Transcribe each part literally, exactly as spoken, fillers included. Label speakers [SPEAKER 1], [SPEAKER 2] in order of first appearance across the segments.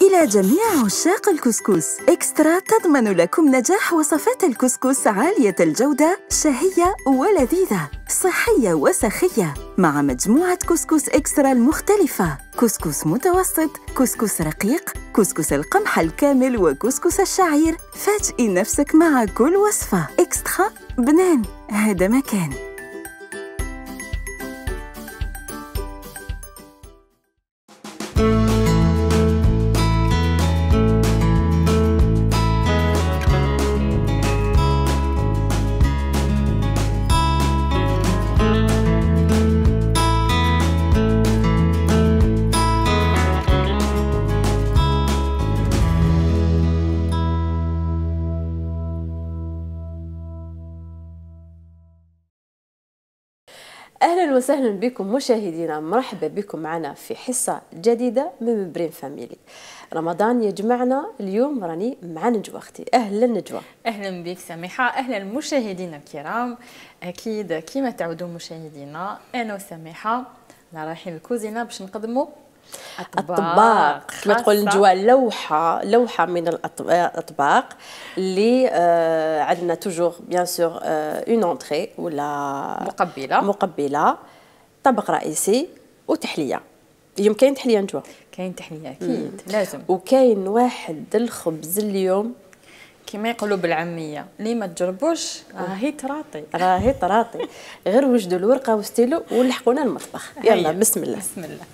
[SPEAKER 1] إلى جميع عشاق الكسكس، إكسترا تضمن لكم نجاح وصفات الكسكس عالية الجودة، شهية ولذيذة، صحية وسخية، مع مجموعة كسكس إكسترا المختلفة: كسكس متوسط، كسكس رقيق، كسكس القمح الكامل، وكسكس الشعير. فاجئي نفسك مع كل وصفة. إكسترا، بنان، هذا مكان.
[SPEAKER 2] اهلا وسهلا بكم مشاهدينا، مرحبا بكم معنا في حصه جديده من مبرين فاميلي. رمضان يجمعنا اليوم، راني مع نجوى اختي. اهلا نجوى.
[SPEAKER 3] اهلا بك سميحه. اهلا المشاهدين الكرام. اكيد كما تعودون مشاهدينا، انا وسميحه رايحين الكوزينه باش نقدموا
[SPEAKER 2] اطباق كما تقول نجوى، لوحه لوحه من الاطباق اللي آه عندنا توجور بيان سور اون اونتري ولا
[SPEAKER 3] مقبله
[SPEAKER 2] مقبله طبق رئيسي وتحليه. اليوم كاين تحليه نجوى؟
[SPEAKER 3] كاين تحليه اكيد مم. لازم.
[SPEAKER 2] وكاين واحد الخبز اليوم
[SPEAKER 3] كما يقولوا بالعاميه اللي ما تجربوش راهي تراطي
[SPEAKER 2] راهي تراطي. غير وجدوا الورقه وستيلو ولحقونا المطبخ. يلا بسم الله.
[SPEAKER 3] بسم الله.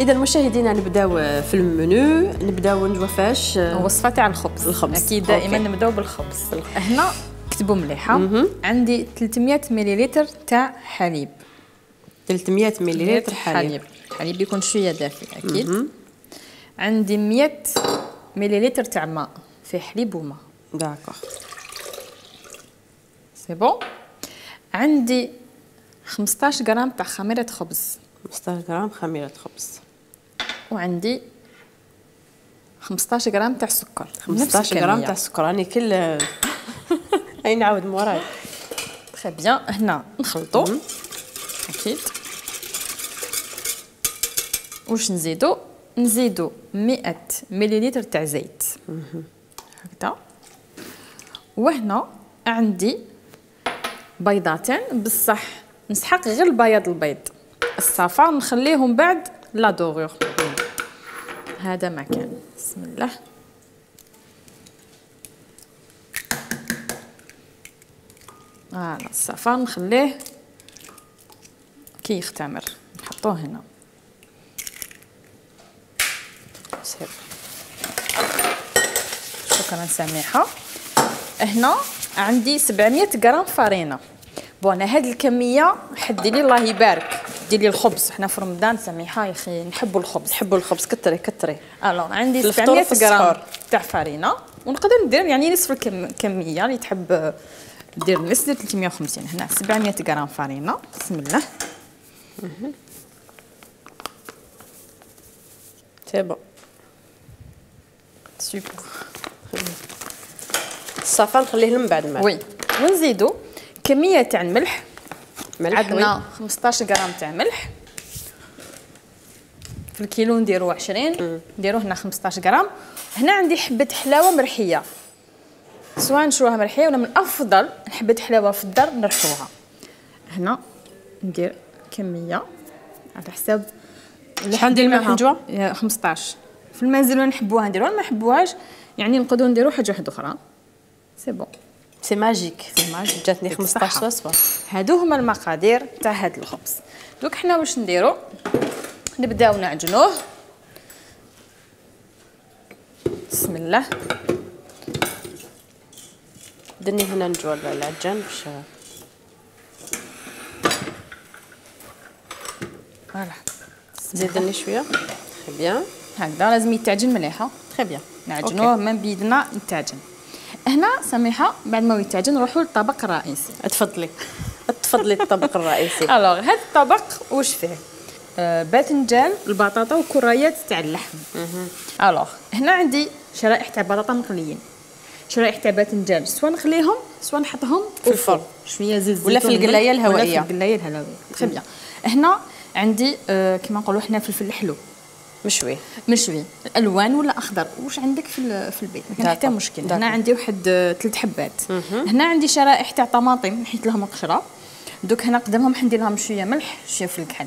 [SPEAKER 2] اذا مشاهدينا نبداو في المنيو. نبداو نجوى فاش
[SPEAKER 3] وصفه تاع الخبز.
[SPEAKER 2] الخبز
[SPEAKER 3] اكيد دائما نبداو بالخبز. هنا كتبوا مليحه. عندي ثلاثمية مليلتر تاع حليب.
[SPEAKER 2] ثلاثمية مليلتر حليب.
[SPEAKER 3] حليب يكون شويه دافئ اكيد. مم. عندي مية مليلتر تاع ماء، فيه حليب وماء.
[SPEAKER 2] داكوغ
[SPEAKER 3] سي بون. عندي خمسطاش غرام تاع خميره خبز.
[SPEAKER 2] خمسطاش غرام خميره خبز.
[SPEAKER 3] وعندي خمسطاش غرام تاع سكر.
[SPEAKER 2] خمسطاش غرام تاع سكر. راني كل اي نعاود موراي.
[SPEAKER 3] تري بيان. هنا نخلطو اكيد. واش نزيدو؟ نزيدو مئة مليلتر تاع زيت هكذا. وهنا عندي بيضتين، بصح نسحق غير البياض البيض، الصفار نخليهم بعد لا دوغور. هذا مكان. بسم الله. فوالا الصفار نخليه كي يختمر نحطوه هنا. سير. شكرا سميحه. هنا عندي سبعمية غرام فرينه. بون هاد الكميه حدي لي الله يبارك. ديري الخبز، حنا في رمضان سميحه يا اخي نحبوا الخبز.
[SPEAKER 2] نحبوا الخبز كتري كتري.
[SPEAKER 3] الوغ عندي سبعمية غرام تاع فرينه، ونقدر ندير يعني نصف الكميه اللي تحب دير نص ثلاثمية وخمسين. هنا سبعمية غرام فرينه. بسم الله.
[SPEAKER 2] سي بون
[SPEAKER 3] سوبر.
[SPEAKER 2] الصفار نخليه من بعد الماء.
[SPEAKER 3] وي. ونزيدو كميه تاع الملح.
[SPEAKER 2] ملح
[SPEAKER 3] عندنا خمسطاش غرام تاع ملح. في الكيلو نديرو عشرين، نديرو هنا خمسطاش غرام. هنا عندي حبه حلاوه مرحيه، سواء نشروها مرحيه ولا من الافضل حبه حلاوه في الدار نرحوها. هنا ندير كميه على حساب
[SPEAKER 2] شحال ندير الملح نجوى؟
[SPEAKER 3] خمسطاش. في المنزل وين نحبوها نديروها، ما نحبوهاش يعني نقدروا نديروا حاجه واحده اخرى. سي بون.
[SPEAKER 2] سي ماجيك.
[SPEAKER 3] سي ماجيك.
[SPEAKER 2] جاتني خمسطاش وصفه.
[SPEAKER 3] هادو هما المقادير تاع هاد الخبز. دوك حنا واش نديرو؟ نبداو نعجنوه. بسم الله.
[SPEAKER 2] درني هنا نجوى العجان باش
[SPEAKER 3] فوالا.
[SPEAKER 2] زيدني شويه. تري بيان.
[SPEAKER 3] هكذا لازم يتعجن مليحه.
[SPEAKER 2] تري بيان.
[SPEAKER 3] نعجنوه من بيدنا يتعجن. هنا سميحه بعد ما يتعجن نروحوا للطبق الرئيسي.
[SPEAKER 2] تفضلي تفضلي الطبق الرئيسي.
[SPEAKER 3] الوغ هذا الطبق واش فيه؟ آه باذنجان، البطاطا وكريات تاع اللحم. الوغ هنا عندي شرائح تاع بطاطا مقليين، شرايح تاع باذنجان، سواء نخليهم سواء نحطهم
[SPEAKER 2] في الفرن
[SPEAKER 3] شويه زيت
[SPEAKER 2] ولا في القلايه الهوائيه
[SPEAKER 3] ولا في القلايه الهوائيه. تري بيان. هنا عندي آه كيما نقولوا حنا فلفل الحلو
[SPEAKER 2] مشوي
[SPEAKER 3] مشوي الوان ولا اخضر، واش عندك في في البيت ما كاين حتى مشكل. هنا عندي واحد ثلاث حبات. هنا عندي شرائح تاع طماطم نحيت لهم القشره، دوك هنا قدامهم حندير لهم شويه ملح شويه فلفل الكحل.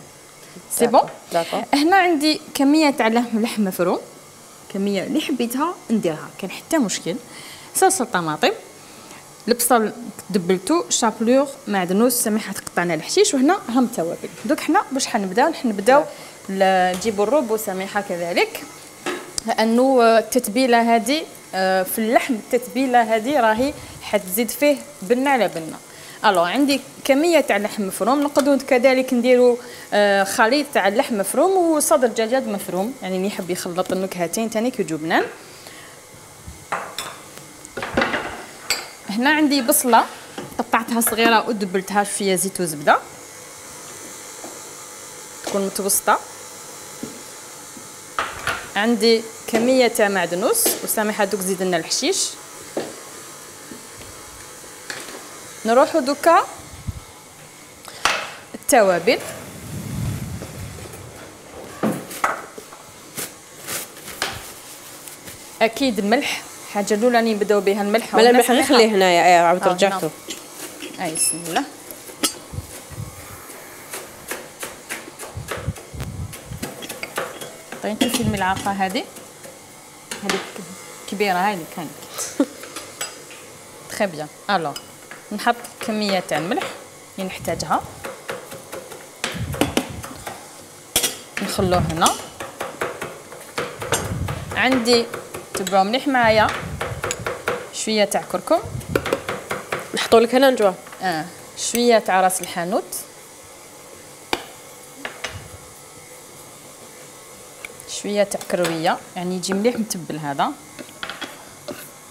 [SPEAKER 3] سي بون. هنا عندي كميه تاع لحم مفروم، كميه اللي حبيتها نديرها كاين حتى مشكل. صلصه طماطم، البصل دبلتو، شابلور، معدنوس، سميحه قطعنا الحشيش، وهنا هم التوابل. دوك حنا باش حنبداو نبداو نجيبوا الروب وسميحه كذلك، لانه التتبيله هذه في اللحم، التتبيله هذه راهي حتزيد فيه بنه على بنه. الو عندي كميه تاع لحم مفروم، نقدروا كذلك نديروا خليط تاع اللحم مفروم وصدر دجاج مفروم، يعني اللي يحب يخلط النكهتين ثاني كيجيو بنان. هنا عندي بصله قطعتها صغيره ودبلتها شويه زيت وزبده تكون متوسطه. عندي كميه تاع معدنوس وسامحه دوك زيد لنا الحشيش. نروحوا دوكا التوابل، اكيد الملح حاجه الاولى اللي نبداو بها الملح.
[SPEAKER 2] مالا الملح غير خليه هنايا. اي عاود رجعته.
[SPEAKER 3] اي بسم الله. عطيتي في الملعقه هذه هذيك كبيره هاي اللي كانت. تري بيان. الو نحط كميه تاع الملح اللي نحتاجها، نخلوه هنا. عندي تبعوا مليح معايا شويه تاع كركم،
[SPEAKER 2] نحطوا لك هنا نجوا
[SPEAKER 3] اه شويه تاع راس الحانوت، شويه تاع كرويه يعني يجي مليح متبل هذا.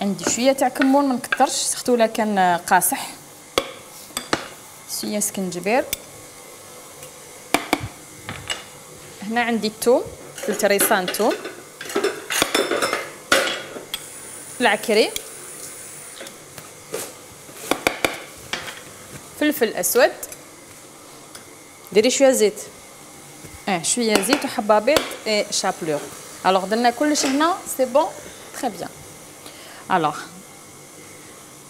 [SPEAKER 3] عندي شويه تاع كمون ما نكثرش، سختو لا كان قاصح، شويه سكنجبير. هنا عندي الثوم، ثلاث ريصان ثوم، العكري، فلفل اسود،
[SPEAKER 2] ديري شويه زيت.
[SPEAKER 3] اه شويه زيت وحبه بيض اي شابلور. الوغ درنا كلش هنا سي بون تري بيان. الوغ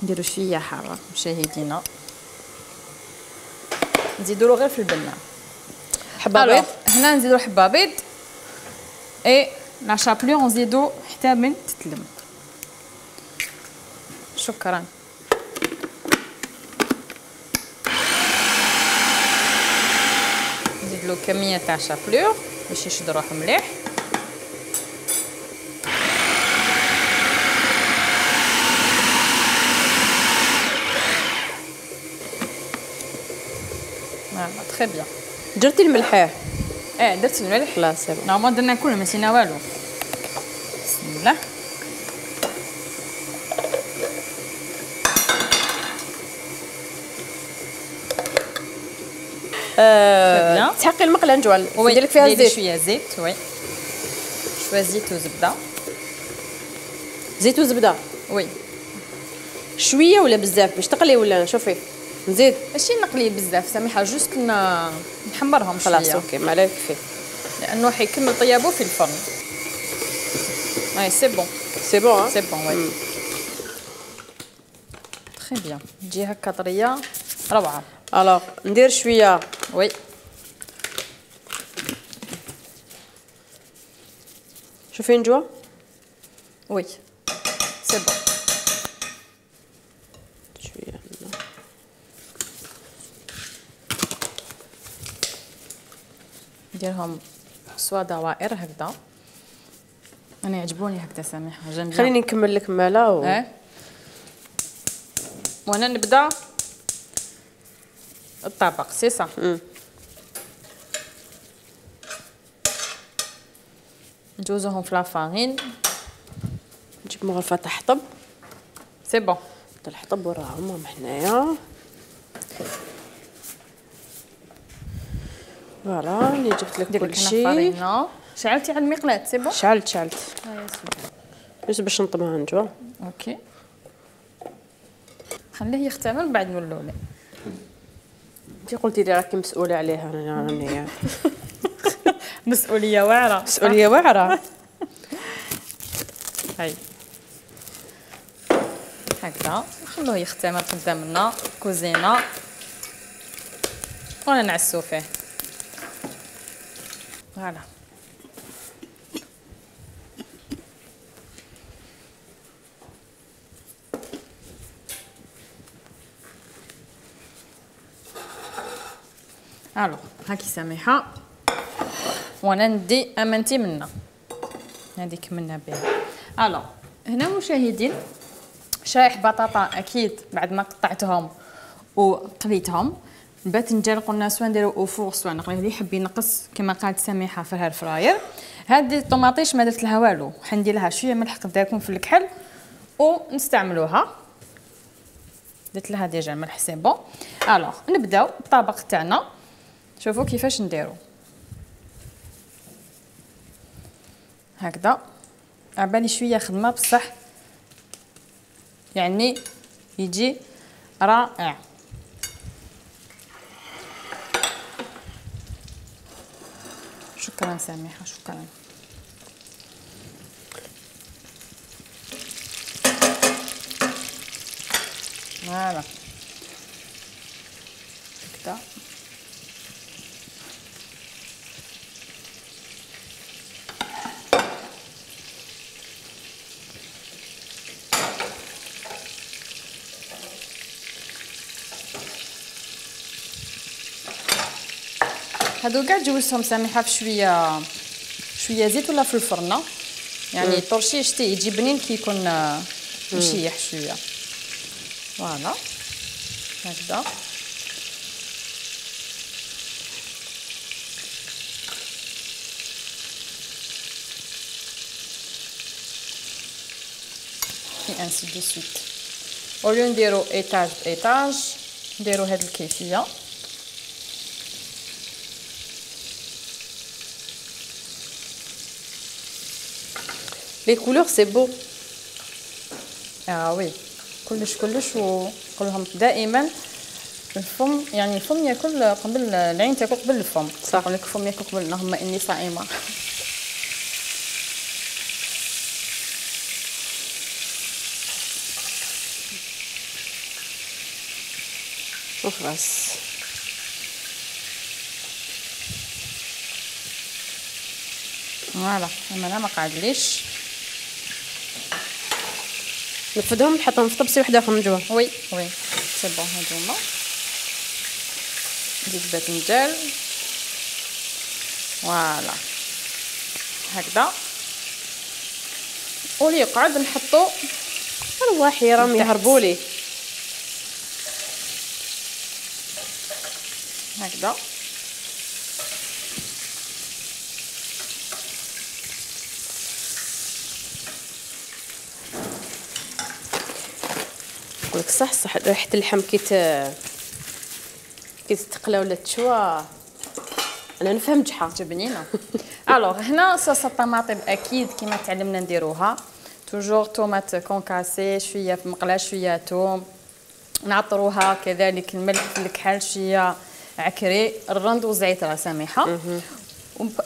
[SPEAKER 3] نديرو شويه حاره مشاهدينا، نزيدو غير في البنه
[SPEAKER 2] حبه بيض.
[SPEAKER 3] هنا نزيدو حبه بيض اي لا شابلور نزيدو حتى من تتلم. شكرا. نزيد له كميه تاع شابلور باش يشد روحو مليح. فوالا تري بيان.
[SPEAKER 2] درتي الملح؟
[SPEAKER 3] اه درت الملح.
[SPEAKER 2] لا سي بون.
[SPEAKER 3] نورمال درنا كله ما نسينا والو. بسم الله.
[SPEAKER 2] أه تحقي المقله نجوال ندير لك فيها الزيت.
[SPEAKER 3] شويه زيت وي شويه زيت وزبده.
[SPEAKER 2] زيت وزبده
[SPEAKER 3] وي
[SPEAKER 2] شويه ولا بزاف باش تقلي ولا شوفي نزيد؟
[SPEAKER 3] ماشي نقلي بزاف سامحه، جوست نحمرهم شويه.
[SPEAKER 2] خلاص اوكي ما عليك فيه،
[SPEAKER 3] لانه حيكمل طيابو في الفرن. اي سي بون
[SPEAKER 2] سي بون
[SPEAKER 3] سي بون وي تري بيان. تجي هكا طريه روعه.
[SPEAKER 2] الوغ ندير شويه
[SPEAKER 3] وي
[SPEAKER 2] شوفي نجوى.
[SPEAKER 3] وي سي بون.
[SPEAKER 2] شويه
[SPEAKER 3] نديرهم سوا دوائر هكذا. انا يعجبوني هكذا سامحه جنبي.
[SPEAKER 2] خليني نكمل لك مالا و...
[SPEAKER 3] اه وانا نبدا الطبق سي صح. نجوزوهم في لافارين،
[SPEAKER 2] نجيب مغرفه تحطب.
[SPEAKER 3] سي بون.
[SPEAKER 2] الحطب وراهم هم حنايا. فوالا راني جبت لك كلشي.
[SPEAKER 3] شعلتي على المقلاة سي بون؟
[SPEAKER 2] شعلت شعلت بس باش نطمها نجوى.
[SPEAKER 3] اوكي خليه يختمر من بعد نولوا له.
[SPEAKER 2] انت قلتي لي راكي مسؤوله عليها. انا راني
[SPEAKER 3] مسؤوليه واعره.
[SPEAKER 2] مسؤوليه واعره.
[SPEAKER 3] هاي هكذا نخلوه يختمر قدامنا كوزينه وانا نعسو فيه. فوالا الو هاكي سميحه وانا ندي امانتي منا هذيك منا بها. الو هنا مشاهدين شرايح بطاطا اكيد بعد ما قطعتهم وقليتهم. الباذنجان قلنا سواء نديرو او فوغ سواء نقليه، اللي يحب ينقص كما قالت سميحه في الهير فراير. هذه الطوماطيش ما درت لها والو، حندير لها شويه ملح قداكم في الكحل ونستعملوها. درت لها ديجا الملح سي بون. الوغ نبداو بالطبق تاعنا. شوفوا كيفاش نديرو هكذا. عبالي شويه خدمه بصح يعني يجي رائع. شكرا سميحه شكرا. فوالا هكذا. هادو كاع جوزتهم سميحه في شويه شويه زيت ولا في الفرن، يعني طرشيه شتي يجي بنين كي يكون مشيح شويه. فوالا هكذا. اي انسي دو سويت. اوليو نديرو ايطاج بايطاج نديرو هاد الكيفيه.
[SPEAKER 2] لي كولور سي بو.
[SPEAKER 3] اه وي كلش كلش. ونقول لهم دائما الفم يعني الفم ياكل قبل العين تاكل قبل الفم.
[SPEAKER 2] صح.
[SPEAKER 3] نقول لك الفم ياكل قبل اللهم اني صائمه.
[SPEAKER 2] وخلاص
[SPEAKER 3] فوالا. انا لا ما قعدليش
[SPEAKER 2] نفدهم نحطهم في طبسي واحده اخرى من جوا.
[SPEAKER 3] وي وي سي بون. هادوما نزيد باذنجان فوالا هكذا. واللي يقعد نحطو
[SPEAKER 2] ارواحي راهم يهربولي
[SPEAKER 3] هكذا.
[SPEAKER 2] نقولك صح صح ريحه اللحم كي كي تتقلى ولا تشوى انا نفهم جحا
[SPEAKER 3] جبنينه. الوغ هنا صوص الطماطم اكيد كما تعلمنا نديروها توجور طوماط كونكاسي شويه في مقله شويه توم نعطروها كذلك الملح في الكحل شويه عكري الرند وزعيت راه سميحه.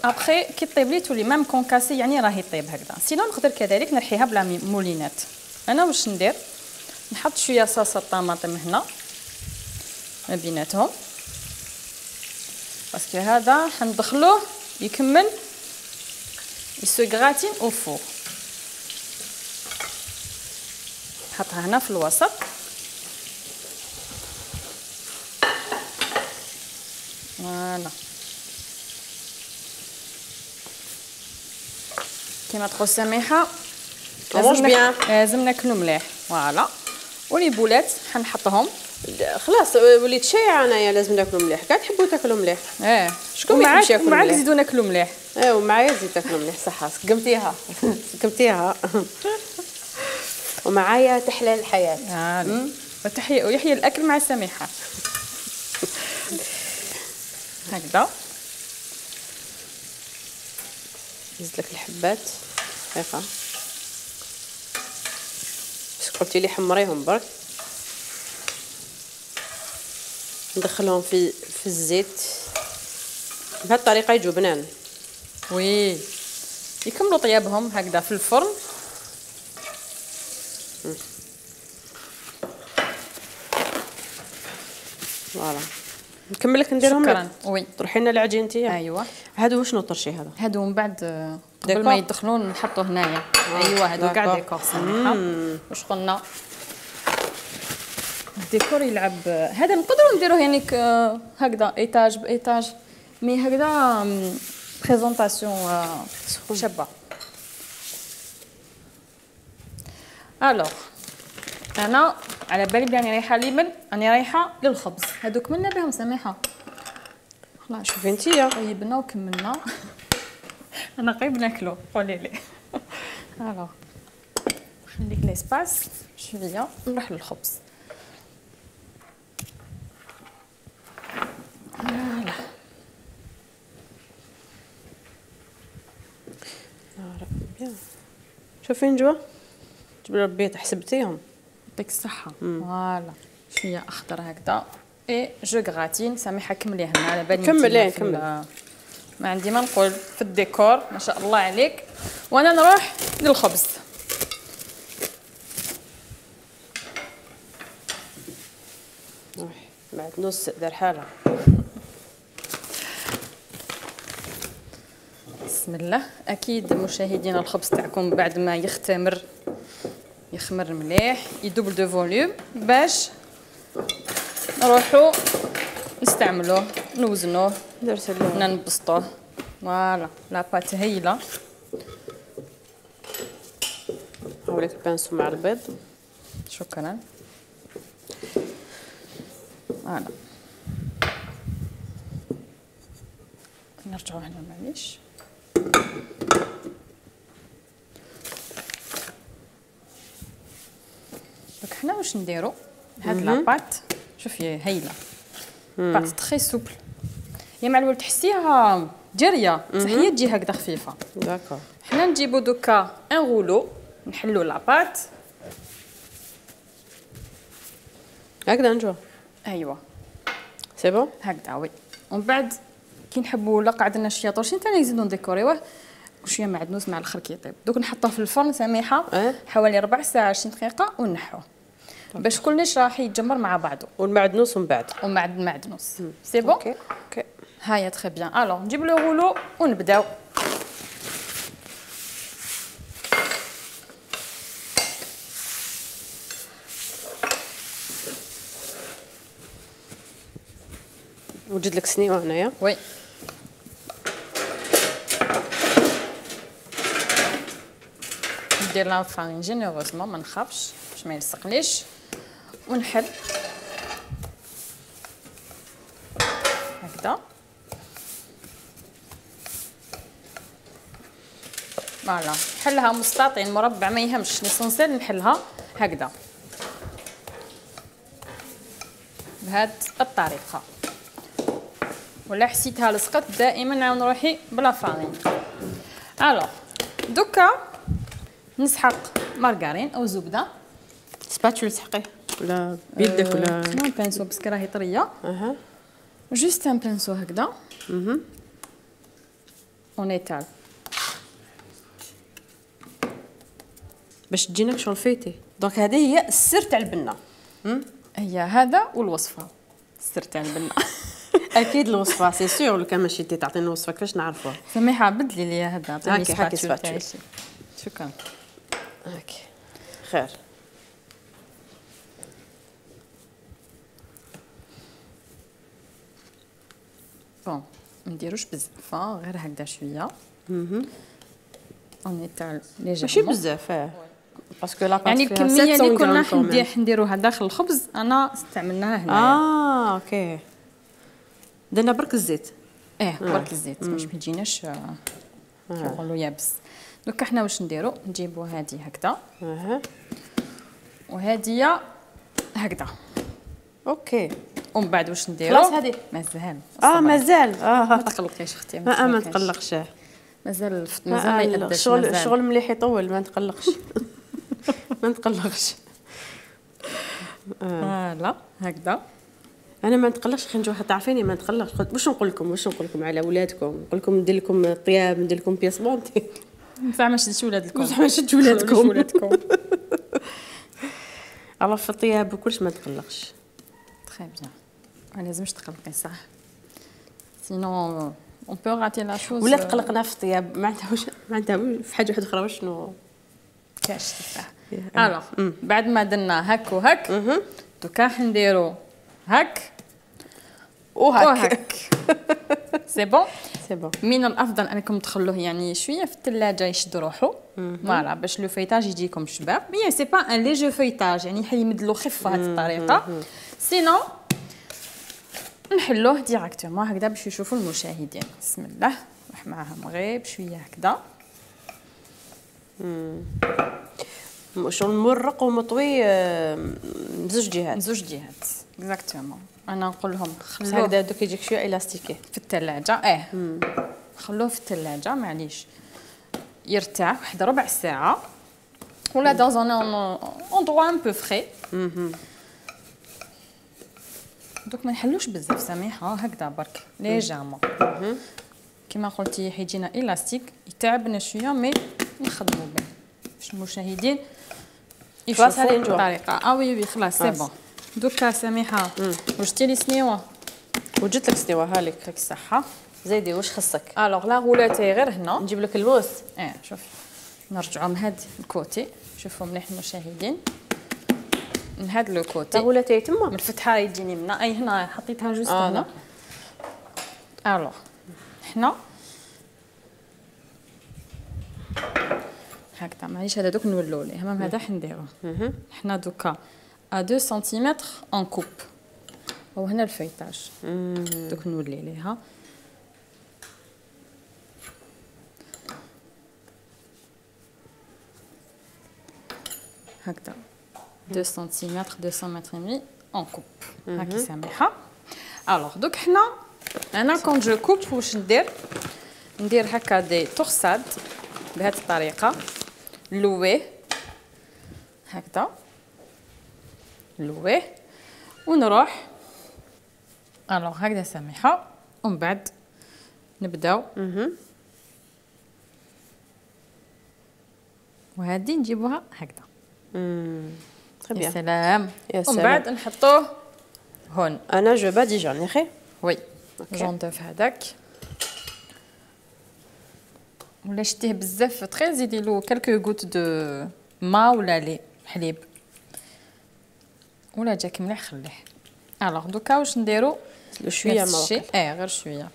[SPEAKER 3] ابخي كي طيب لي تولي ميم كونكاسي يعني راهي طيب هكذا. سينو نقدر كذلك نرحيها بلا مولينات. انا واش ندير نحط شويه صوص الطماطم هنا ما بيناتهم باسكو هذا حندخلوه يكمل يسو غراتين او فور. نحطها هنا في الوسط فوالا كيما تقول سميحه لازم ناكلو مليح. فوالا ولي بولات حنحطهم
[SPEAKER 2] خلاص وليت شايعه انايا لازم ناكلو مليح. كاع تحبوا تاكلوا مليح.
[SPEAKER 3] اه
[SPEAKER 2] شكون ما يحبش ياكل مليح؟
[SPEAKER 3] ومعاك نزيدو ناكلو مليح.
[SPEAKER 2] اه ومعايا زيد تاكلوا مليح. صح سقمتيها سقمتيها. ومعايا تحلى الحياه.
[SPEAKER 3] اه وتحية ويحيى الاكل مع سميحه. هكذا
[SPEAKER 2] نزيد لك الحبات دقيقه. قلتي لي حمريهم برك. ندخلهم في في الزيت بهذه الطريقه يجوا بنان.
[SPEAKER 3] وي يكملوا طيابهم هكذا في الفرن.
[SPEAKER 2] فوالا نكمل لك نديرهم
[SPEAKER 3] شكرا. وي
[SPEAKER 2] طرحي لنا العجين انت.
[SPEAKER 3] ايوا
[SPEAKER 2] هادو شنو طرشي هذا؟
[SPEAKER 3] هادو من بعد قبل ما يدخلون نحطوا هنايا. ايوا هادو كاع ديكور سميحه. واش قلنا الديكور يلعب هذا نقدروا نديروه يعني هكذا ايتاج بايتاج مي هكذا بريزونطاسيون شابه. الوغ انا على بالي بلي راني رايحه ليمن، راني رايحه للخبز. هادو كملنا بهم سميحه.
[SPEAKER 2] خلاص شوفي انتيا
[SPEAKER 3] طيبنا وكملنا. انا قريب ناكلو قولي لي. الوغ خليك ليسباس شويه نروح للخبز. فوالا
[SPEAKER 2] بيان. شوفي نجوى جبت ربيت حسبتيهم
[SPEAKER 3] يعطيك الصحه. فوالا شويه اخضر هكذا اي جو غراتين. سامحه كملي هنا على بالي
[SPEAKER 2] كملي كمل.
[SPEAKER 3] ما عندي ما نقول في الديكور ما شاء الله عليك. وانا نروح للخبز.
[SPEAKER 2] بعد نص دار حاله.
[SPEAKER 3] بسم الله. اكيد مشاهدينا الخبز تاعكم بعد ما يختمر يخمر مليح يدوبل دو فوليوم باش نروحو نستعملوه نوزنوه
[SPEAKER 2] درت
[SPEAKER 3] ننبسطوه. فوالا لاباط هايله.
[SPEAKER 2] هاوليك البانسو مع البيض.
[SPEAKER 3] شكرا. فوالا نرجعو هنا معليش. دونك حنا واش نديرو هاد لاباط شوفي هايله. بات تري سوبل يا مع الولد تحسيها جاريه بصح هي تجي هكذا خفيفه.
[SPEAKER 2] داكور.
[SPEAKER 3] حنا نجيبو دوكا ان غولو نحلو لاباط
[SPEAKER 2] هكذا نجوى.
[SPEAKER 3] ايوا
[SPEAKER 2] سي بون
[SPEAKER 3] هكذا. وي ومن بعد كي نحبوا لا قعدنا شويه طرشين ثاني نزيدو نديكوريوه وشويه معدنوس مع الاخر كيطيب. دوك نحطوه في الفرن سميحه
[SPEAKER 2] أه؟
[SPEAKER 3] حوالي ربع ساعه عشرين دقيقه ونحوه باش كلش راح يتجمر مع بعضه.
[SPEAKER 2] والمعدنوس من بعد
[SPEAKER 3] ومع المعدنوس سي بون.
[SPEAKER 2] اوكي اوكي
[SPEAKER 3] هايا تري بيان. الوغ نجيب لو غولو ونبداو.
[SPEAKER 2] وجد لك سنيوه هنايا.
[SPEAKER 3] وي ندير لا فارين جينيروزمون ما نخافش باش ما يلصقليش ونحل هكذا. فوالا نحلها مستطيل مربع ما يهمش ليسونسيال نحلها هكذا بهاد الطريقه. ولا حسيتها لصقت دائما نعاود روحي بلا فارين. الوغ دوكا نسحق مارغرين او زبده.
[SPEAKER 2] سباتشول تسحقيه ولا بيدك ولا
[SPEAKER 3] نو بانسو باسكو راهي طريه.
[SPEAKER 2] اها
[SPEAKER 3] جوست ان بانسو هكذا.
[SPEAKER 2] اها
[SPEAKER 3] اون ايتال
[SPEAKER 2] باش تجينا شغل فيتي. دونك هذه هي السر تاع البنه.
[SPEAKER 3] هي هذا والوصفه السر تاع البنه.
[SPEAKER 2] اكيد الوصفه سي سور. لو كان ماشي تي تعطيني الوصفه كيفاش نعرفوها؟
[SPEAKER 3] سميحه بدلي لي هذا عطيني
[SPEAKER 2] هاكي هاكي
[SPEAKER 3] سباتشول.
[SPEAKER 2] سباتشول.
[SPEAKER 3] شكرا.
[SPEAKER 2] هاكي خير.
[SPEAKER 3] بون ما نديروش بزاف غير هكذا شويه.
[SPEAKER 2] اها
[SPEAKER 3] اون ايتال ليجيرمون
[SPEAKER 2] ماشي بزاف. اه باسكو لا
[SPEAKER 3] يعني الكميه اللي كنا ندير نديروها داخل الخبز انا استعملناها هنا.
[SPEAKER 2] اه اوكي درنا برك الزيت.
[SPEAKER 3] ايه برك الزيت باش ما يجيناش نقولوا يابس. دوكا حنا واش نديرو نجيبو هذه هكذا.
[SPEAKER 2] اها
[SPEAKER 3] وهذه هكذا.
[SPEAKER 2] اوكي
[SPEAKER 3] ومن بعد واش نديرو
[SPEAKER 2] خلاص هذه
[SPEAKER 3] مازال.
[SPEAKER 2] اه مازال. اه
[SPEAKER 3] ما تقلقيش اختي
[SPEAKER 2] ما ما نتقلقش.
[SPEAKER 3] مازال مازال ما يقدرش.
[SPEAKER 2] الشغل الشغل مليح يطول ما نتقلقش. ما نتقلقش.
[SPEAKER 3] فوالا هكذا.
[SPEAKER 2] انا ما نتقلقش خي نجوا تعرفيني ما نتقلقش. قلت واش نقول لكم واش نقول لكم على ولادكم، نقول لكم ندير لكم طياب، ندير لكم بياس مونتي.
[SPEAKER 3] بصح ما شدتش ولادكم،
[SPEAKER 2] بصح ما شدتش ولادكم.
[SPEAKER 3] ولادكم.
[SPEAKER 2] الله في الطياب وكلش ما نتقلقش.
[SPEAKER 3] تري بيان، ما لازمش تقلقي صح، سينون اون بو راتي لا شوز.
[SPEAKER 2] ولا تقلقنا في الطياب ما عندها واش ما عندها في حاجه واحده اخرى شنو
[SPEAKER 3] كاش صح. الوغ بعد ما درنا هك وهك دوكا حنديرو هك
[SPEAKER 2] وهك.
[SPEAKER 3] سي بون
[SPEAKER 2] سي بون.
[SPEAKER 3] من الافضل انكم تخلوه يعني شويه في الثلاجه يشد روحو فوالا باش لو فيتاج يجيكم شباب. مي سي با ان ليجو فيتاج يعني يمدلو خفه هذه الطريقه، سينو نحلوه ديراكتومون هكذا باش يشوفوا المشاهدين. بسم الله نروح معاهم غير بشويه هكذا.
[SPEAKER 2] شغل مرق ومطوي بزوج جهات.
[SPEAKER 3] زوج جهات اكزاكتومون. انا نقول لهم خلوه
[SPEAKER 2] هكذا دوك يجيك شويه الاستيكي
[SPEAKER 3] في الثلاجه. اه مم. خلوه في الثلاجه معليش يرتاح واحد ربع ساعه ولا دون ان اندروا ان بو فري. دوك ما نحلوش بزاف سميحه هكذا برك ليجامون كما قلتي حيجينا الاستيك يتعبنا شويه مي نخدموا به باش المشاهدين يشوفوا الطريقه. اه وي وي خلاص سي بون. دوكا سميحه وجدتي لي سنيوه
[SPEAKER 2] وجدت لك سنيوه هالك
[SPEAKER 3] لك الصحه.
[SPEAKER 2] زيدي واش خصك؟
[SPEAKER 3] الوغ لا غولاتي غير هنا
[SPEAKER 2] نجيب لك الموس.
[SPEAKER 3] اه شوفي نرجعوا من هاد الكوتي شوفوا مليح المشاهدين من هاد لو كوتي
[SPEAKER 2] غولاتي تما
[SPEAKER 3] من الفتحه يجيني منا. اي هنا حطيتها جوست
[SPEAKER 2] آه
[SPEAKER 3] هنا. الوغ حنا هكذا معليش هذا دوك نولو ليه المهم هذا حنديروه حنا دوكا ا اثنين سنتيمتر اون كوب وهنا الفيتاج دوك نولي ليها هكذا اثنين سنتيمتر اثنين متر مي اون كوب هاكي سامحه. الوغ دوك حنا انا كون جو كوب واش ندير ندير هكا دي تورساد بهذه الطريقه نلويه هكذا نلويه ونروح الوغ هكذا سامحه ومن بعد نبداو وهذه نجيبوها هكذا.
[SPEAKER 2] يا
[SPEAKER 3] سلام. ومن بعد نحطوه هون.
[SPEAKER 2] انا جو باديجون يا خي
[SPEAKER 3] وي جونطيف هذاك ولا شتيه بزاف تري زيدي له كالكو غوت دو ما ولا لي حليب ولا جاك مليح خليه. الوغ دوكا واش نديرو
[SPEAKER 2] شويه
[SPEAKER 3] نفس الشيء اه غير شويه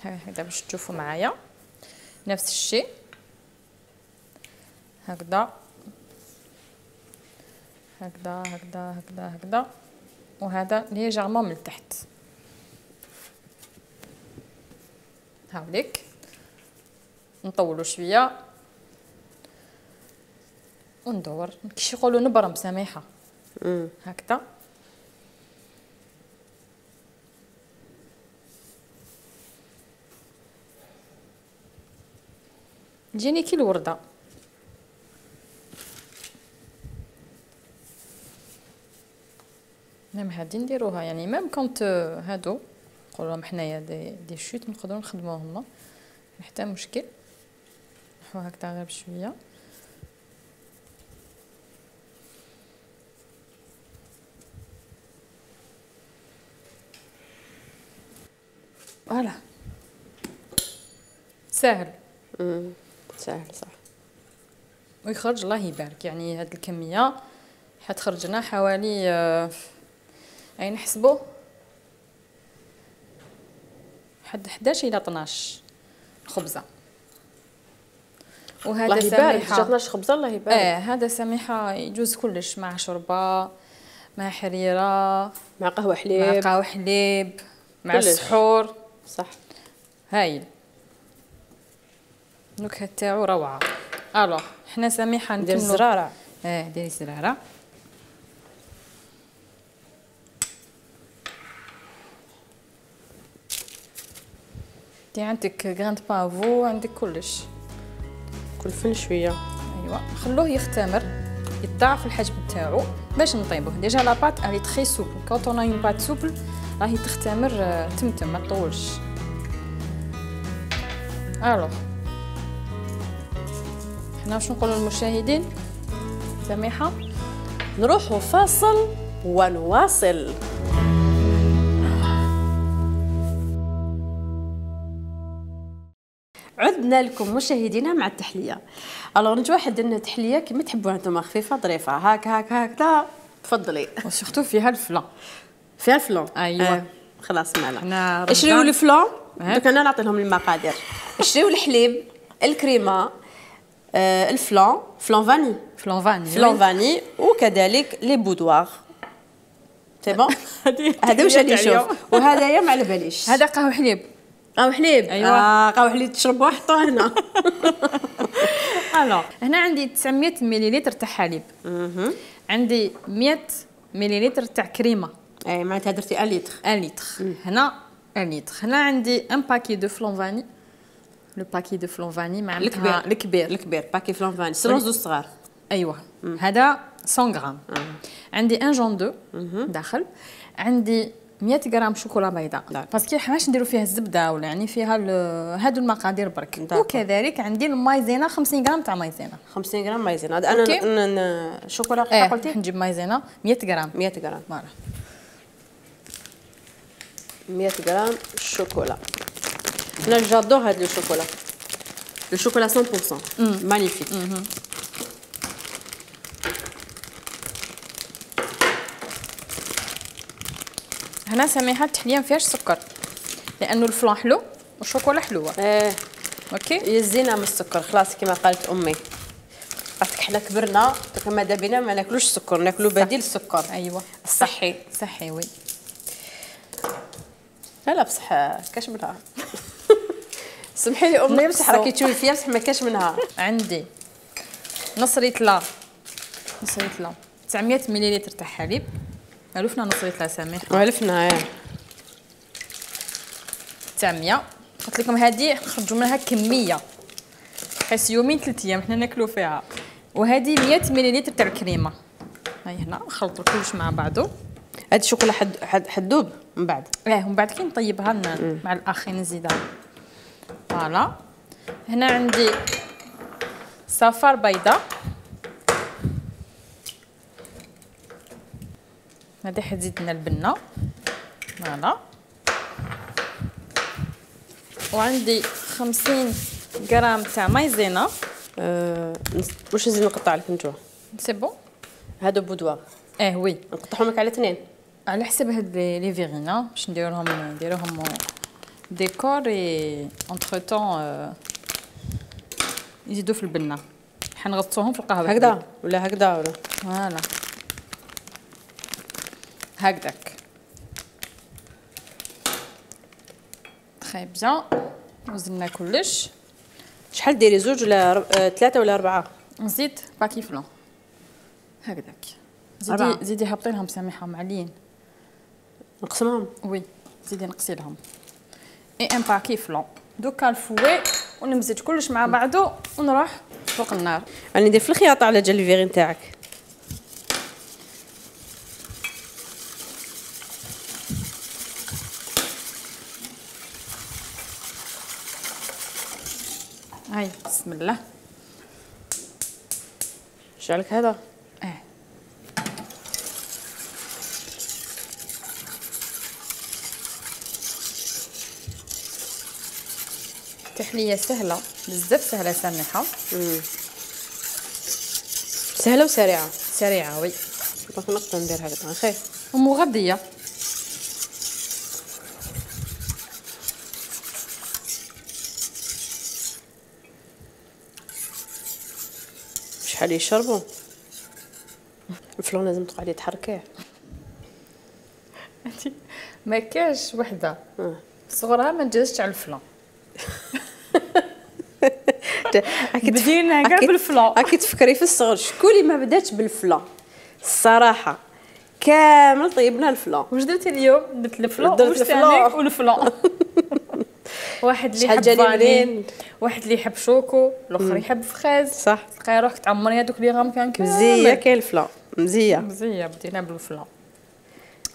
[SPEAKER 3] هكذا باش تشوفوا معايا نفس الشيء هكذا هكذا هكذا هكذا هكذا وهذا ليجيرمون من تحت هاوليك نطولوا شويه وندور كيش يقولوا نبرم سميحه هكذا تجيني كي الورده. ميم هادي نديروها يعني ميم كونت هادو نقولهم حنايا دي دي شوت نقدروا نخدموهم حتى مشكل. نحو هكذا غير بشويه فوالا ساهل.
[SPEAKER 2] امم ساهل صح
[SPEAKER 3] ويخرج الله يبارك يعني هاد الكميه حتخرج لنا حوالي آه اي نحسبوا حد حداش الى اثناش خبزه. وهذا
[SPEAKER 2] سميحه اثناش خبزه الله يبارك.
[SPEAKER 3] اه هذا سميحه يجوز كلش مع شوربه مع حريره
[SPEAKER 2] مع قهوه حليب
[SPEAKER 3] مع قهوه حليب مع السحور
[SPEAKER 2] صح
[SPEAKER 3] هايل. النكهه تاعو روعه. الوغ حنا سميحه
[SPEAKER 2] ندير الزراره
[SPEAKER 3] اه ديري الزراره دي عندك غراند بافو عندك كلش
[SPEAKER 2] كل فن شويه.
[SPEAKER 3] ايوا نخلوه يختمر يتضاعف الحجم تاعو باش نطيبوه. ديجا لا بات الي تري سوبل كونط اون ا اون بات سوبل راهي تختمر تمتم ما تطولش. الوغ حنا واش نقولوا للمشاهدين؟ سميحه
[SPEAKER 2] نروحوا فاصل ونواصل. عدنا لكم مشاهدينا مع التحليه. الوغ نجي واحد لنا تحليه كما تحبوها نتوما، خفيفه ظريفه هاك هاك هكذا. تفضلي.
[SPEAKER 3] وسورتو فيها الفلان.
[SPEAKER 2] فيها الفلان.
[SPEAKER 3] ايوا
[SPEAKER 2] آه. خلاص معنا.
[SPEAKER 3] حنا
[SPEAKER 2] شريو الفلان. دوك انا نعطي لهم المقادير. شريو الحليب، الكريمه، آه الفلان، فلان فاني،
[SPEAKER 3] فلان فاني
[SPEAKER 2] فلان فاني وكذلك لي بودوار. سي بون. هذا واش غادي نشوف. وهذايا ما على باليش.
[SPEAKER 3] هذا قهوه حليب.
[SPEAKER 2] قهوه حليب.
[SPEAKER 3] ايوا
[SPEAKER 2] آه قهوه حليب تشربوها حطوها هنا.
[SPEAKER 3] الو هنا عندي تسعمية مليلتر تاع حليب. عندي مية مليلتر تاع كريمه.
[SPEAKER 2] اي معناتها درتي واحد لتر.
[SPEAKER 3] واحد لتر. هنا واحد لتر. هنا عندي ان باكي دو فلان فاني. لو باكي دو فلان فاني مع
[SPEAKER 2] الكبير.
[SPEAKER 3] الكبير
[SPEAKER 2] الكبير باكي فلان فاني سلوز دو صغار.
[SPEAKER 3] ايوه هذا مية غرام. عندي ان جون دو داخل. عندي مية غرام شوكولا بيضاء باسكو حناش نديرو فيها الزبده ولا يعني فيها هادو المقادير برك. وكذلك عندي المايزينا خمسين غرام تاع مايزينا.
[SPEAKER 2] خمسين غرام مايزينا. هذا انا شوكولا
[SPEAKER 3] ايه
[SPEAKER 2] قلتي
[SPEAKER 3] نجيب مايزينا مية غرام.
[SPEAKER 2] مية غرام
[SPEAKER 3] فوالا
[SPEAKER 2] مية غرام شوكولا. انا جادور هاد الشوكولا، لو شوكولا مية بالمية مانيفيك.
[SPEAKER 3] هنا سميحه التحليه ما فيهاش سكر لانه الفلان حلو والشوكولا حلوه.
[SPEAKER 2] ايه
[SPEAKER 3] اوكي
[SPEAKER 2] يزينا من السكر خلاص كما قالت امي. باسكو حنا كبرنا كما بينا ما ناكلوش السكر، ناكلو بديل السكر.
[SPEAKER 3] ايوه
[SPEAKER 2] الصحي
[SPEAKER 3] صحي وي.
[SPEAKER 2] لا لا بصح كاش منها. سمحي لي امي بصح راكي تشوفي فيها بصح ما كاش منها.
[SPEAKER 3] عندي نص ريتلا نص ريتلا تسعمية مليلتر تاع حليب. عرفنا نص ريتلا سميحه
[SPEAKER 2] وعرفنا ايه
[SPEAKER 3] تسعمية. قلت لكم هذه نخرجوا منها كميه حيت يومين ثلاث ايام حنا ناكلوا فيها. وهذه مية مليلتر تاع الكريمه. هاي هنا نخلطوا كلش مع بعضه.
[SPEAKER 2] هاد الشوكولا حد حد حدوب من بعد.
[SPEAKER 3] اه ومن بعد كي نطيبها مع الاخين نزيدها. فوالا هنا عندي صفار بيضاء. هذه حتزيد لنا البنه. فوالا وعندي خمسين غرام تاع مايزينا.
[SPEAKER 2] أه واش نزيد نقطع لك نتوما؟
[SPEAKER 3] سي بون.
[SPEAKER 2] هادو بودوار.
[SPEAKER 3] اه وي
[SPEAKER 2] نقطعهم لك على اثنين
[SPEAKER 3] على حسب هاد لي فيغينا باش ندير لهم نديروهم ديكور اي انتر طون يزيدوا في البنه. حنغطوهم في القهوه
[SPEAKER 2] هكذا ولا هكذا ولا
[SPEAKER 3] فوالا هكذاك. تري بيان. وزننا كلش.
[SPEAKER 2] شحال ديري زوج ولا رب... آه، ثلاثه ولا اربعه؟
[SPEAKER 3] نزيد باكي فلان هكذاك. زيدي زيدي هبطي لهم سميحه معلين.
[SPEAKER 2] نقسمهم؟
[SPEAKER 3] وي زيدي نقصي لهم. اي ان باكي فلان. دوكا الفوي ونمزج كلش مع بعضو ونروح فوق النار.
[SPEAKER 2] راني ندير في الخياطه على جال الفيغي نتاعك.
[SPEAKER 3] هاي بسم الله.
[SPEAKER 2] شعلك هذا؟
[SPEAKER 3] اه تحليه سهله بزاف سهله سميحه.
[SPEAKER 2] سهله وسريعه.
[SPEAKER 3] سريعه وي.
[SPEAKER 2] دونك نقدر ندير هكذا خير
[SPEAKER 3] ومغذيه.
[SPEAKER 2] شحال يشربوا الفلان لازم تقعدي تحركيه.
[SPEAKER 3] ما كاش وحده صغرها ما نجازش على الفلان. بدينا كاع بالفلان.
[SPEAKER 2] راكي تفكري في الصغر شكون اللي ما بداتش بالفلان الصراحه كامل طيبنا الفلان.
[SPEAKER 3] واش درتي اليوم؟ درت الفلان
[SPEAKER 2] درت الفلان
[SPEAKER 3] والفلان. واحد اللي يحب فاني واحد اللي يحب شوكو الاخر يحب فخاز.
[SPEAKER 2] صح
[SPEAKER 3] تلقاي روحك تعمري هذوك لي غام كان كامل
[SPEAKER 2] مزيه كاين الفلان مزيه
[SPEAKER 3] مزيه. بدينا بالفلان.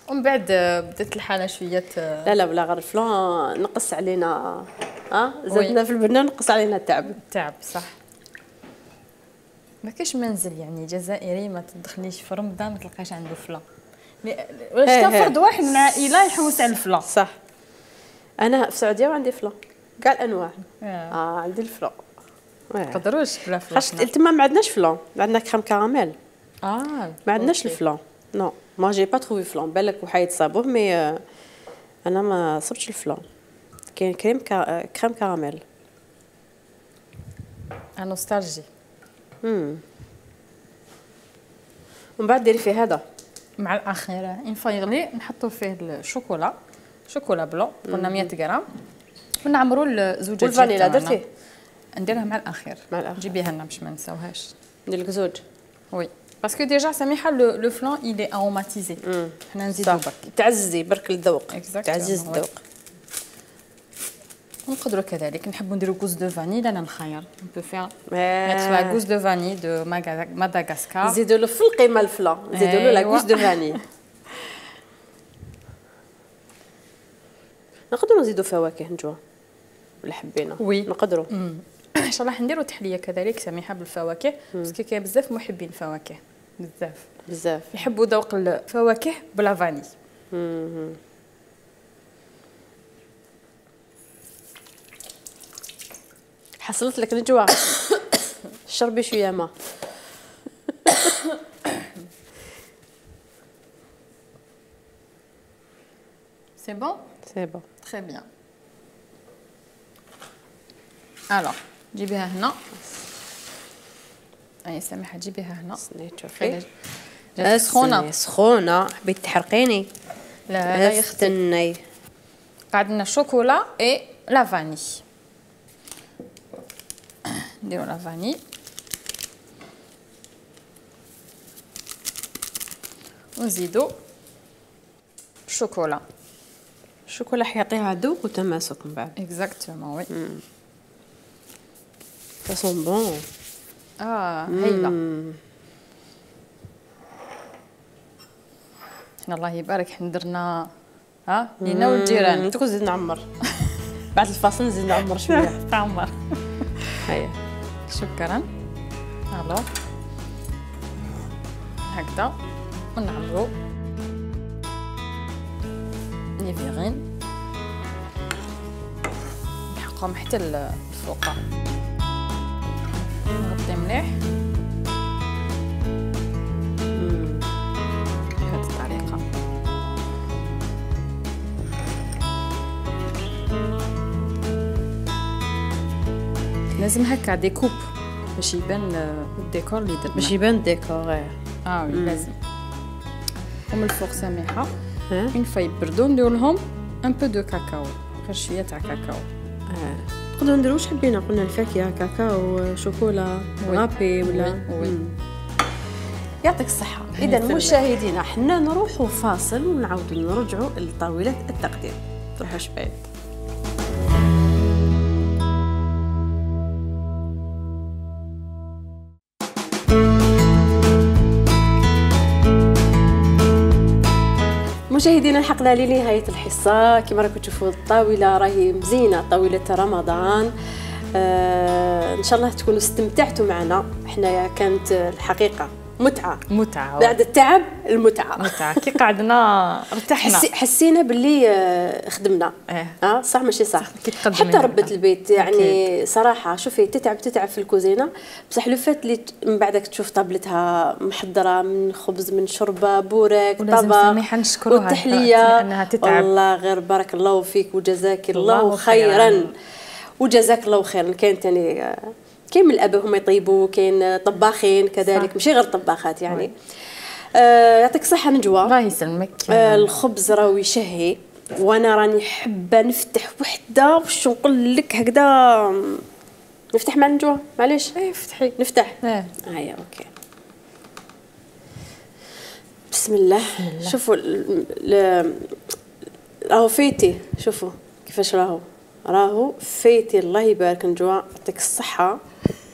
[SPEAKER 3] ومن بعد بدات الحاله شويه.
[SPEAKER 2] لا لا بلا غير الفلان نقص علينا ها زدنا في البنان نقص علينا التعب.
[SPEAKER 3] التعب صح. ما كاش منزل يعني جزائري ما تدخليش في رمضان ما تلقاش عنده فلا. واش كان فرد واحد من العائله يحوس على الفلا.
[SPEAKER 2] صح. انا في السعوديه وعندي فلا كاع الانواع.
[SPEAKER 3] اه,
[SPEAKER 2] آه عندي الفلا.
[SPEAKER 3] ما نقدروش بلا فلا.
[SPEAKER 2] خاص تما ما عندناش فلا، عندنا كريم كراميل.
[SPEAKER 3] اه
[SPEAKER 2] ما عندناش الفلا. نو ما جي با تروفي فلا، بالك وحايد صابوه مي انا ما صبتش الفلا. كاين كريم كا... كريم كراميل.
[SPEAKER 3] نوستالجي.
[SPEAKER 2] امم ومن بعد ديري فيه هذا
[SPEAKER 3] مع الاخير ان فوا يغلي نحطوا فيه الشوكولا، شوكولا بلو قلنا مية غرام، ونعمروا الزوجه
[SPEAKER 2] والفانيلا درتيه.
[SPEAKER 3] نديرها مع الاخير.
[SPEAKER 2] مع الاخير
[SPEAKER 3] جيبيها لنا باش ما نساوهاش.
[SPEAKER 2] ندير لك زوج.
[SPEAKER 3] وي باسكو ديجا سميحه لو فلان il est aromatisé. حنا نزيدو برك
[SPEAKER 2] تعززي برك الذوق. تعزز الذوق.
[SPEAKER 3] ونقدروا كذلك نحبوا نديروا غوز دو فاني. انا نخير on peut faire mettre la gousse de vanille de Madagascar.
[SPEAKER 2] نزيدوا له في القيمه الفلا، نزيدوا له لا غوز دو فاني. نقدروا نزيدوا فواكه نجوا ولا حبينا.
[SPEAKER 3] وي
[SPEAKER 2] نقدروا
[SPEAKER 3] ان شاء الله نديروا تحليه كذلك سميحه بالفواكه باسكو كاين بزاف محبين الفواكه بزاف
[SPEAKER 2] بزاف
[SPEAKER 3] يحبوا ذوق الفواكه بلا فاني.
[SPEAKER 2] حصلت لك نجوى. شربي شويه ما.
[SPEAKER 3] سي بون
[SPEAKER 2] سي بون
[SPEAKER 3] تري بيان. الوغ جيبيها هنا. اي سميحه جيبيها هنا.
[SPEAKER 2] شوفي
[SPEAKER 3] سخونه
[SPEAKER 2] سخونه. حبيت تحرقيني.
[SPEAKER 3] لا لا
[SPEAKER 2] يختني.
[SPEAKER 3] قاعد لنا الشوكولا اي لا فاني. نديرو لا فاني ونزيدو الشوكولا.
[SPEAKER 2] الشوكولا حيعطيها ذوق وتماسك من بعد.
[SPEAKER 3] اكزاكتومون وي.
[SPEAKER 2] Ça sent bon.
[SPEAKER 3] اه هايله. حنا الله يبارك حنا درنا ها لينا والجيران.
[SPEAKER 2] انت كنت زيد نعمر. بعد الفاصل نزيد نعمر شويه.
[SPEAKER 3] تعمر.
[SPEAKER 2] هيا
[SPEAKER 3] شكرا. الو هكذا ونعمرو نيفيغين نحقهم حتى الفوق. نغطي مليح بهذه الطريقه. لازم هكا ديكوب باش يبان الديكور اللي درنا.
[SPEAKER 2] باش يبان الديكور.
[SPEAKER 3] اه وي لازم. ومن الفوق سميحه اون فوا يبردو ندير لهم ان بو دو كاكاو، غير شويه تاع كاكاو.
[SPEAKER 2] اه نقدروا نديروا واش حبينا. قلنا الفاكهه كاكاو شوكولا رابي ولا
[SPEAKER 3] وي.
[SPEAKER 2] يعطيك الصحه. اذا مشاهدينا حنا نروحوا فاصل ونعاودوا نرجعوا لطاوله التقديم. تروحوش بعيد. مشاهدينا الحقنا لنهايه الحصه. كما راكم تشوفوا الطاوله راهي مزينه، طاوله رمضان. آه ان شاء الله تكونوا استمتعتوا معنا. حنايا كانت الحقيقه متعه
[SPEAKER 3] متعه
[SPEAKER 2] بعد التعب. المتعه
[SPEAKER 3] متعه كي قعدنا ارتحنا.
[SPEAKER 2] حسي حسينا باللي آه خدمنا.
[SPEAKER 3] اه
[SPEAKER 2] آه صح ماشي صح.
[SPEAKER 3] حتى
[SPEAKER 2] ربة البيت يعني صراحه صراحه شوفي تتعب تتعب في الكوزينه، بصح لو فات اللي من بعدك تشوف طابلتها محضره من خبز من شوربه بوراك طبق
[SPEAKER 3] والتحليه انها تتعب.
[SPEAKER 2] والله غير بارك الله فيك وجزاك الله, الله خيرا. خيرا وجزاك الله خيرا. كاين ثاني كاين من الاباء هما يطيبوا، كاين طباخين كذلك ماشي غير طباخات يعني. آه يعطيك الصحه نجوى.
[SPEAKER 3] الله يسلمك.
[SPEAKER 2] آه الخبز راهو يشهي وانا راني حابه نفتح وحده واش نقول لك هكذا. نفتح مع نجوى معليش.
[SPEAKER 3] اي فتحي
[SPEAKER 2] نفتح.
[SPEAKER 3] اه
[SPEAKER 2] هيا اوكي بسم الله. شوفوا راهو فيتي. شوفوا كيفاش راهو راهو فيتي. الله يبارك نجوى يعطيك الصحه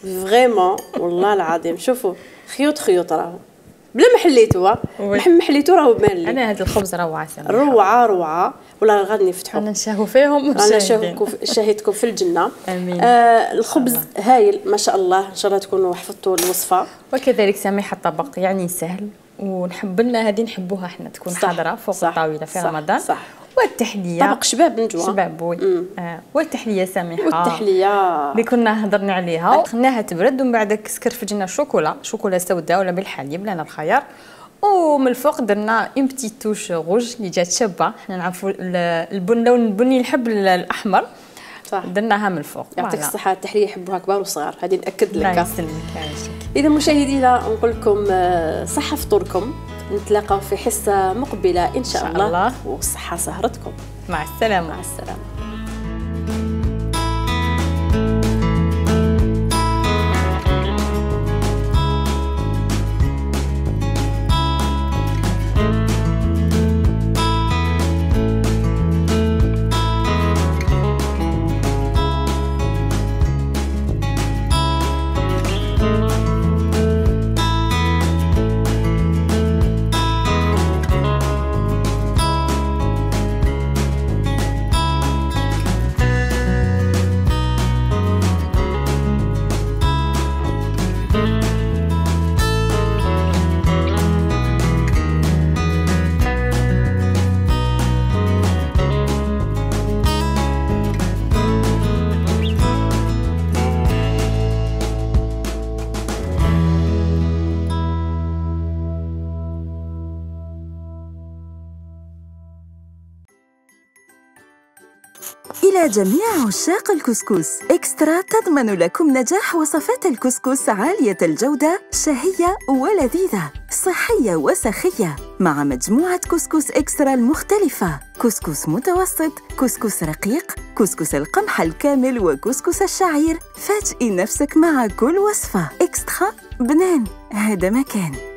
[SPEAKER 2] فريمون والله العظيم. شوفوا خيوط خيوط راهو بلا ما حليتوها ما حليتو راه مالي.
[SPEAKER 3] انا هذا الخبز روعه سميحه
[SPEAKER 2] روعه روعه. ولا غادي نفتحوا
[SPEAKER 3] انا نشهو فيهم
[SPEAKER 2] انا نشهوكم شاهدكم في الجنه.
[SPEAKER 3] امين.
[SPEAKER 2] آه الخبز هايل ما شاء الله، ان شاء الله تكونوا حفظتوا الوصفه.
[SPEAKER 3] وكذلك سميحه الطبق يعني سهل، ونحب لنا هذه نحبوها احنا تكون حاضره فوق صح الطاوله في
[SPEAKER 2] صح
[SPEAKER 3] رمضان.
[SPEAKER 2] صح.
[SPEAKER 3] والتحليه
[SPEAKER 2] طبق شباب من جوا
[SPEAKER 3] شباب وي. آه. والتحليه سميحه
[SPEAKER 2] والتحليه
[SPEAKER 3] اللي كنا هضرنا عليها خلناها تبرد ومن بعد كسكرفجنا الشوكولا شوكولا سوداء ولا بالحليب لنا الخيار، ومن الفوق درنا اون بتيت توش غوج اللي جات شابه. حنا نعرفوا البن لون البني نحب الاحمر
[SPEAKER 2] صح
[SPEAKER 3] درناها من الفوق.
[SPEAKER 2] يعطيك الصحه. التحليه يحبوها كبار وصغار، هذه ناكد لك.
[SPEAKER 3] الله يسلمك.
[SPEAKER 2] اذا مشاهدينا نقول لكم صحه فطوركم، نتلاقاو في حصه مقبله ان شاء, إن شاء الله. الله والصحه سهرتكم.
[SPEAKER 3] مع السلامه.
[SPEAKER 2] مع السلامه.
[SPEAKER 1] إلى جميع عشاق الكسكس، إكسترا تضمن لكم نجاح وصفات الكسكس عالية الجودة، شهية ولذيذة، صحية وسخية، مع مجموعة كسكس إكسترا المختلفة: كسكس متوسط، كسكس رقيق، كسكس القمح الكامل، وكسكس الشعير. فاجئي نفسك مع كل وصفة. إكسترا بنان، هذا مكان.